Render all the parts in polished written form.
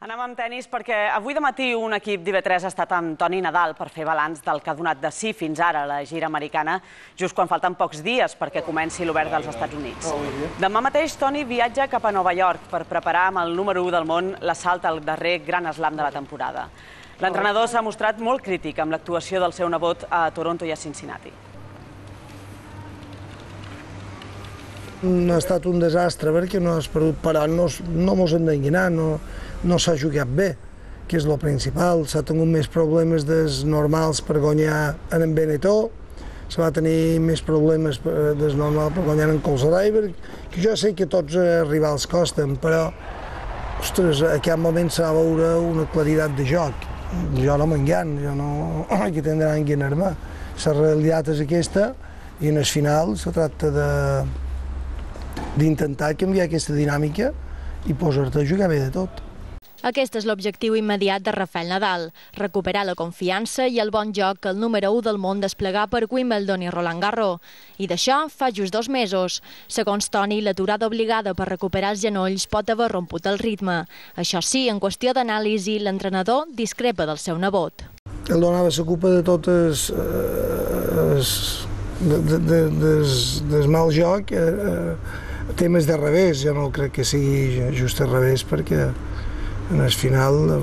Anem amb tenis perquè avui de matí un equip d'IV3 ha estat amb Toni Nadal per fer balanç del que ha donat de si fins ara la gira americana, just quan falten pocs dies perquè comenci l'Obert dels Estats Units. Demà mateix Toni viatja cap a Nova York per preparar amb el número 1 del món l'assalt al darrer Gran Slam de la temporada. L'entrenador s'ha mostrat molt crític amb l'actuació del seu nebot a Toronto i a Cincinnati. Ha estat un desastre perquè no has perdut, però no mos hem d'enganar, no s'ha jugat bé, que és el principal. S'ha tingut més problemes dels normals per guanyar en Benetó, se va tenir més problemes dels normals per guanyar en Colsdriver, que jo sé que tots els rivals costen, però ostres, en aquest moment s'ha de veure una claritat de joc. Jo no m'engan, jo no que tindrà enganar-me. La realitat és aquesta i en el final se tracta d'intentar canviar aquesta dinàmica i posar-te a jugar bé de tot. Aquest és l'objectiu immediat de Rafael Nadal, recuperar la confiança i el bon joc que el número 1 del món desplegar per Wimbledon i Roland Garros. I d'això fa just 2 mesos. Segons Toni, l'aturada obligada per recuperar els genolls pot haver romput el ritme. Això sí, en qüestió d'anàlisi, l'entrenador discrepa del seu nebot. Ell donava la culpa de totes del mal joc, temes de revés. Jo no crec que sigui just al revés perquè en el final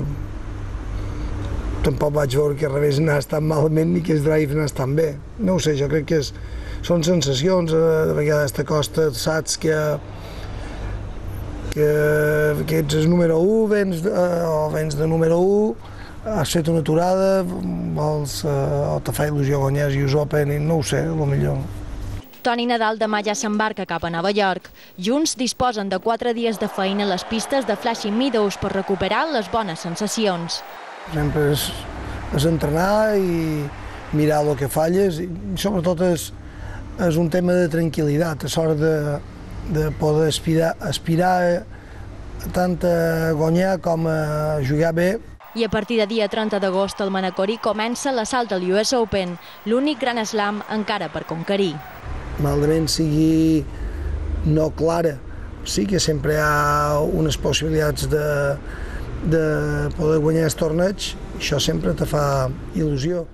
tampoc vaig veure que el revés anés tan malament ni que el drive anés tan bé. No ho sé, jo crec que són sensacions, de vegades t'acosta, saps que ets el número 1, vens de número 1, has fet una aturada, o te fa il·lusió guanyar els US Open, no ho sé, potser. Toni Nadal demà ja s'embarca cap a Nova York. Junts disposen de 4 dies de feina a les pistes de Flushing Meadows per recuperar les bones sensacions. Sempre és entrenar i mirar el que falles i sobretot és un tema de tranquil·litat, és hora de poder aspirar tant a guanyar com a jugar bé. I a partir de dia 30 d'agost al Manacorí comença l'assalt al US Open, l'únic Gran Slam encara per conquerir. Malament sigui no clara, sí que sempre hi ha unes possibilitats de poder guanyar el torneig, això sempre te fa il·lusió.